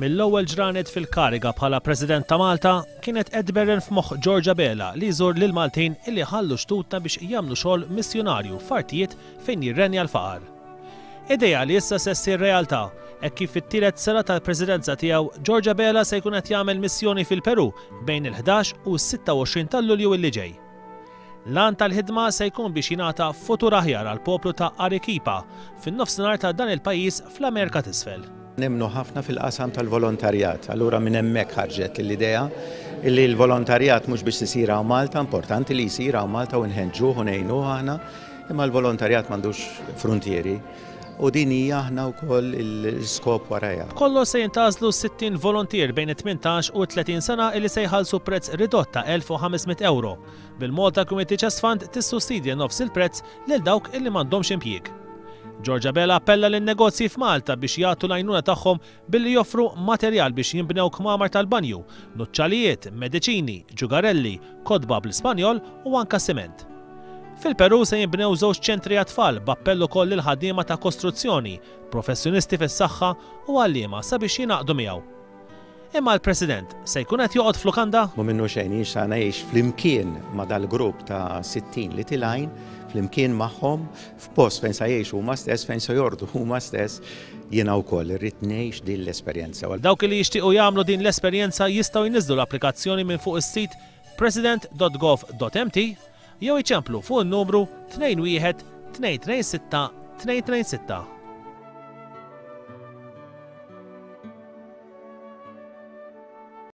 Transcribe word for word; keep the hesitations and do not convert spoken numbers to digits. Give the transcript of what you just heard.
Mill-ewwel ġranet fil-kariga bħala President ta' Malta kienet qed tberren f'moħħ George Abela li jżur lil Maltin illi ħallu xtutna biex jagħmlu xogħol missjunarju f'artijiet fejn jirrenja l-faqar. Idea li issa se ssir realtà hekk kif fit-tielet sena tal-presidenza tiegħu George Abela se jkun qed jagħmel missjoni fil-Peru bejn il-ħdax u s-sitta u għoxrin ta' Lulju illi ġej. L-għan tal-ħidma se jkun biex jingħata futur aħjar għal poplu ta' Arequipa fin-nofsinhar ta' dan il-pajjiż fl-Amerika t'Isfel. Nemmnu ħafna fil-qasam tal-volontarjat, allura minn hemmhekk ħarġet l-idea li l-volontarjat mhux biex isir hawn Malta, importanti li jsir hawn Malta u nħeġġuh u ngħinuh aħna, imma l-volontarjat m'għandux frontieri. U din hija aħna wkoll l-iskop warajha. B'kollox se jintgħażlu sittin volontier bejn it-tmintax u tletin sena illi se jħallsu prezz ridott ta' elf u ħames mitt euro. Bil-Malta Community Chest Fund tissussidja nofs il-prezz lil dawk illi m'għandhomx impjieg. George Abela appella lin negozji f'Malta biex jagħtu l-għajnuna tagħhom billi joffru materjal biex jinbnew kmamar tal-banju, nuċċalijiet, mediċini, ġugarelli, kotba bl-Ispanjol u anka siment. Fil-Peru se jinbnew żewġ ċentri għat-tfal b'appell ukoll lil ħaddiema ta' kostruzzjoni, professjonisti fis-saħħa u għalliema sabiex jingħaqdu miegħu. Imma l-President se jkun qed joqgħod f'lukanda? Mhu minnu xejn, jien sa ngħix flimkien ma' dal-grupp ta' sittin li tilgħin, flimkien magħhom f'post fejn sa jgħixu huma stess, fejn se jordu huma stess, jiena wkoll irrid ngħix din l-esperjenza. Dawk li jixtiequ jagħmlu din l-esperjenza jistgħu jniżżlu l-applikazzjoni minn fuq is-sit president dot gov dot m t jew iċemplu fuq in-numru tnejn wieħed tnejn tnejn sitta tnejn tnejn sitta.